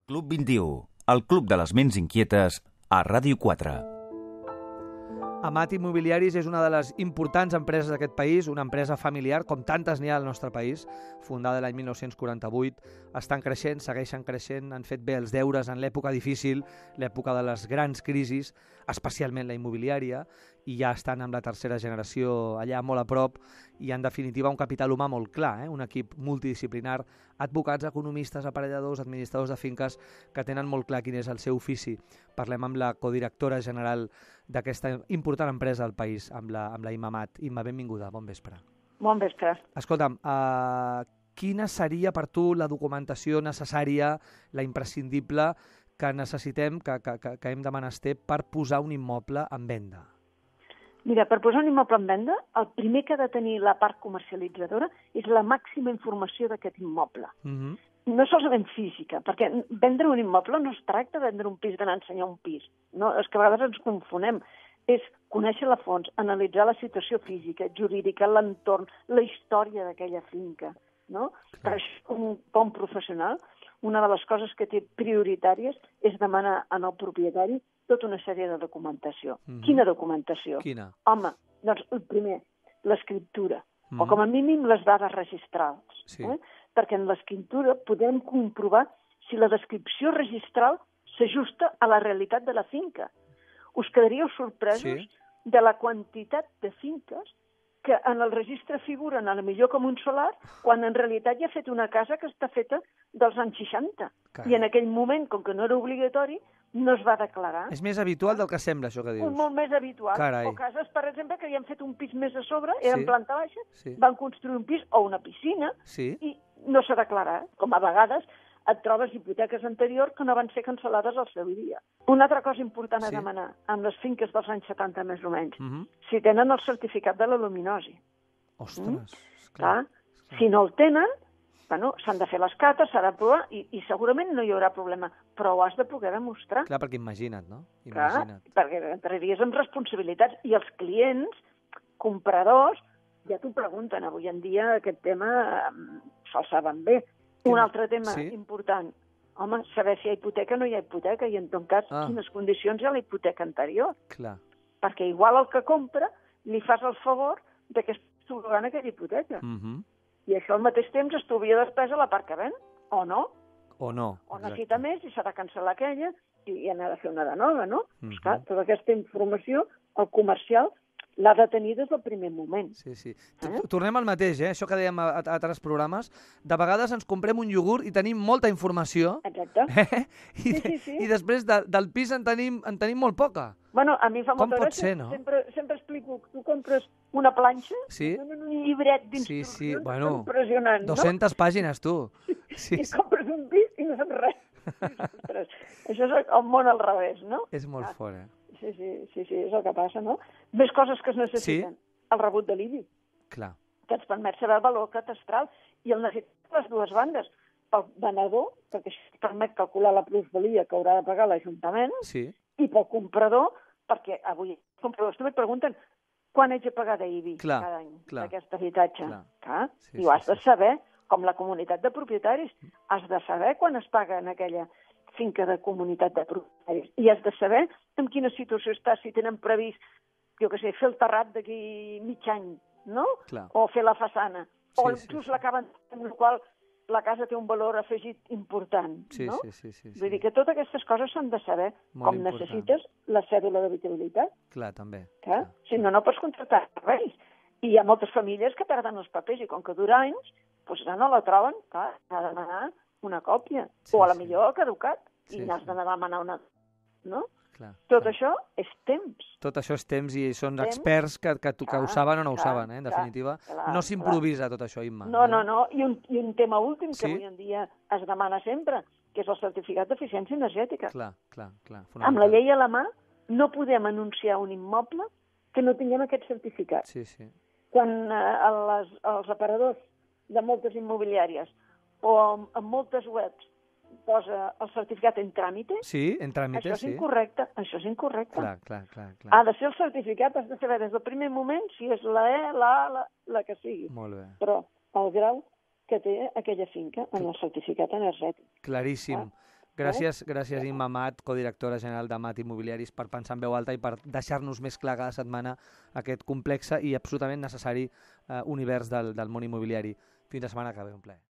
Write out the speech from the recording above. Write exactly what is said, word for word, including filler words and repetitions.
Club vint-i-u, el club de les ments inquietes a Ràdio quatre. Amat Immobiliaris és una de les importants empreses d'aquest país, una empresa familiar, com tantes n'hi ha al nostre país, fundada l'any mil nou-cents quaranta-vuit. Estan creixent, segueixen creixent, han fet bé els deures en l'època difícil, l'època de les grans crisis, especialment la immobiliària, i ja estan amb la tercera generació allà molt a prop, i en definitiva un capital humà molt clar, eh? Un equip multidisciplinar, advocats, economistes, aparelladors, administradors de finques, que tenen molt clar quin és el seu ofici. Parlem amb la codirectora general d'aquesta important empresa del país, amb la, amb la Imma Amat. Imma, benvinguda, bon vespre. Bon vespre. Escolta'm, uh, quina seria per tu la documentació necessària, la imprescindible, que necessitem, que, que, que, que hem de menester per posar un immoble en venda? Mira, per posar un immoble en venda, el primer que ha de tenir la part comercialitzadora és la màxima informació d'aquest immoble. Uh-huh. No solament física, perquè vendre un immoble no es tracta de vendre un pis, d'anar a ensenyar un pis. No? És que a vegades ens confonem. És conèixer la fons, analitzar la situació física, jurídica, l'entorn, la història d'aquella finca. No? Per això, un bon professional, una de les coses que té prioritàries és demanar al propietari tota una sèrie de documentació. Mm-hmm. Quina documentació? Quina? Home, doncs el primer, l'escriptura, mm-hmm. o com a mínim les dades registrals. Sí. Eh? Perquè en l'escriptura podem comprovar si la descripció registral s'ajusta a la realitat de la finca. Us quedaríeu sorpresos sí. de la quantitat de finques que en el registre figuren a la millor com un solar, quan en realitat ja ha fet una casa que està feta dels anys seixanta. Carai. I en aquell moment, com que no era obligatori, no es va declarar. És més habitual del que sembla, això que dius. Un molt més habitual. Carai. O cases, per exemple, que hi han fet un pis més a sobre, eren sí. planta baixa, sí. van construir un pis o una piscina, sí. i no s'ha declarat. Com a vegades et trobes hipoteques anteriors que no van ser cancel·lades al seu dia. Una altra cosa important a sí. demanar, amb les finques dels anys setanta més o menys, uh-huh. si tenen el certificat de la luminosi. Ostres, mm? clar. clar. Si no el tenen, bueno, s'han de fer les cates, s'ha de provar, i, i segurament no hi haurà problema, però ho has de poder demostrar. Clar, perquè imagina't, no? Imagina't. Clar, perquè entraries amb responsabilitats, i els clients, compradors, ja t'ho pregunten. Avui en dia aquest tema um, se'l saben bé. Un altre tema sí? important, home, saber si hi ha hipoteca o no hi ha hipoteca, i en tot cas, ah. quines condicions hi ha la hipoteca anterior. Clar. Perquè igual el que compra li fas el favor de que es subroga aquella hipoteca. Uh-huh. I això al mateix temps estalvia despesa a la part que ven, o no? O no. O necessita més i s'ha de cancel·lar aquella i, i anar a fer una de nova, no? Uh-huh. Esclar, tota aquesta informació, el comercial, l'ha de tenir des del primer moment. Sí, sí. Eh? Tornem al mateix, eh? Això que dèiem a, a altres programes. De vegades ens comprem un iogurt i tenim molta informació. Exacte. Eh? I, sí, sí, sí. I després de, del pis en tenim, en tenim molt poca. Bueno, a mi fa Com molta pot gràcia. ser, no? Sempre, sempre explico, tu compres una planxa, sí? un llibret d'instruccions, sí, sí. Bueno, impressionant, no? dues-centes pàgines, tu. Sí, I sí. compres un pis i no saps res. Ostres, això és el món al revés, no? És molt ah. fort, eh? Sí, sí, sí, sí, és el que passa, no? Més coses que es necessiten. Sí? El rebut de l'I B I. Clar. Que ens permet saber el valor catastral, i el necessitem les dues bandes. Pel venedor, perquè això permet calcular la plusvalia que haurà de pagar l'Ajuntament, sí. i pel comprador, perquè avui els compradors també et pregunten quan haig de pagar d'I B I clar, cada any clar, d'aquest habitatge. Clar. Clar. Sí, I ho has sí, de saber, com la comunitat de propietaris. Has de saber quan es paga en aquella finca de comunitat de propietaris. I has de saber en quina situació està, si tenen previst, jo què sé, fer el terrat d'aquí mig any, no? Clar. O fer la façana. Sí, o inclús sí, sí. l'acaben, amb la qual la casa té un valor afegit important, sí, no? Sí, sí, sí, sí. Vull dir que totes aquestes coses s'han de saber, molt com important. necessites la cèdula d'habitabilitat. Clar, també. Clar? Clar. Si no, no pots contractar serveis. I hi ha moltes famílies que perden els papers, i com que dura anys, doncs ja no la troben, clar, ha de demanar una còpia. Sí, o a la sí. millor ha caducat, sí, i n'has sí. de demanar una... No? Clar, Tot clar. això és temps. Tot això és temps, i són temps, experts que, que, que clar, ho saben o no ho clar, saben, eh? En definitiva. clar, no s'improvisa tot això, Imma. No, eh? no, no. I un, I un tema últim que sí? avui en dia es demana sempre, que és el certificat d'eficiència energètica. Clar, clar, clar. Amb la llei a la mà no podem anunciar un immoble que no tinguem aquest certificat. Sí, sí. Quan eh, les, els operadors de moltes immobiliàries o en, en moltes webs posa el certificat en tràmite, sí, en tràmite, això és sí. incorrecte, això és incorrecte. Clar, clar, clar, clar. Ha de ser el certificat, has de saber des del primer moment si és la E, la A, la, la que sigui. Molt bé. Però el grau que té aquella finca en el certificat energètic. Claríssim. Ah. Gràcies, gràcies Imma Amat, codirectora general d'Amat Immobiliaris, per pensar en veu alta i per deixar-nos més clar cada setmana aquest complex i absolutament necessari eh, univers del, del món immobiliari. Fins la setmana que ve, un plaer.